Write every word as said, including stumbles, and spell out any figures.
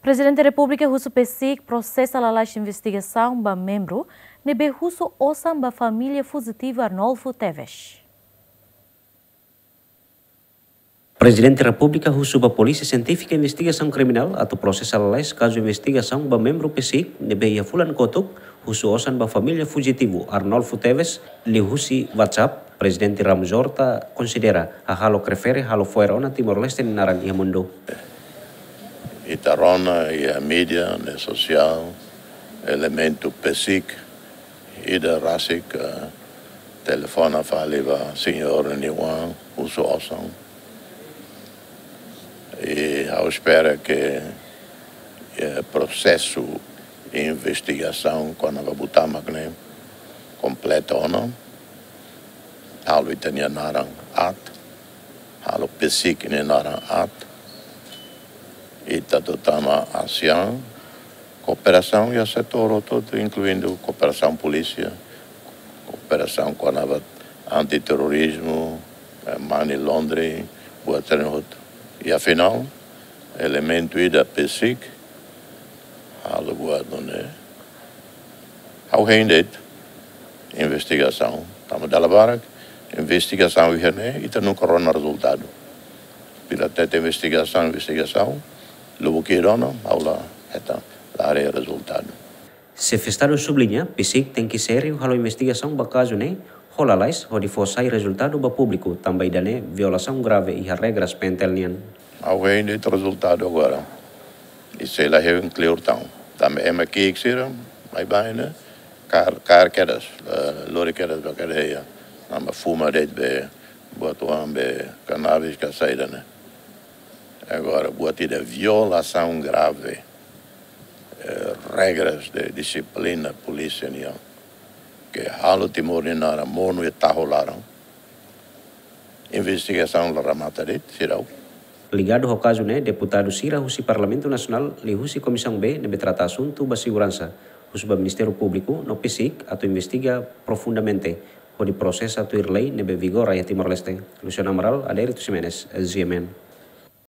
Prezidente Repúblika husu PCIC prosesa lalais investigasaun ba membru ne'ebé husu osan ba família fujitivu Arnolfo Teves. Prezidente Repúblika husu ba Polísia Sientífika Investigasaun Kriminál atu prosesa lalais kazu investigasaun ba membru PCIC ne'ebé iha fulan kotuk husu osan ba família fujitivu Arnolfo Teves liuhusi WhatsApp. Prezidente Ramos Horta konsidera hahalok refere halo fo'er ona Timor-Leste nia naran iha mundu. Ita rona iha mídia, ne'e sosiál, elementu PCIC ida rasik, eh, telefona fali ba señór nia oan husu osan. I ha'u espera ke, eh, prosesu investigasaun kona-ba buat mak ne'e kompleta ona. Halo ita-nia naran aat, halo PCIC nia naran aat. Ita atu tama ASEAN, kooperasaun iha setór hotu, inkluindu kooperasaun polísia, kooperasaun kona-ba antiterrorizmu, eh, money laundering, buat sira-ne'e hotu. I afinál, elementu ida PCIC halo buat ne'e, ha'u hein de'it investigasaun. Tanba dala barak investigasaun iha ne'e, ita nunka rona rezultadu. Pila tete investigasaun, investigasaun, lubuk ida ona, ha'u la hetan, la haree rezultadu. Xefe Estadu subliña, PCIC tenke sériu halo investigasaun ba kazu ne'e ho lalais hodi fó sai rezultadu ba públiku, tanba ida-ne'e violasaun grave iha regras PNTL nian. Ha'u hein de'it rezultadu agora. I sei la hein kleur tan. Tanba ema ki'ik sira, mai bain ne'e, kaer, kaer kedas, eh, lori kedas ba kadeia. Tanba fuma de'it be, buat oan be, kanabis ka saida ne'e. Agora, buat ida violasaun grave, eh, regras de dixiplina polísia nian, ke halo Timor nia naran monu iha tahu laran. Investigasaun la remata de'it, seidauk. Ligadu ho kazu ne'e, deputadu sira husi Parlamentu Nasionál liuhusi Komisaun B ne'ebé trata asuntu ba seguransa husu ba Ministériu Públiku no PCIC atu investiga profundamente hodi prosesa tuir lei ne'ebé vigora iha Timor-Leste. Luciano Amaral, Adérito Ximenes, GMN.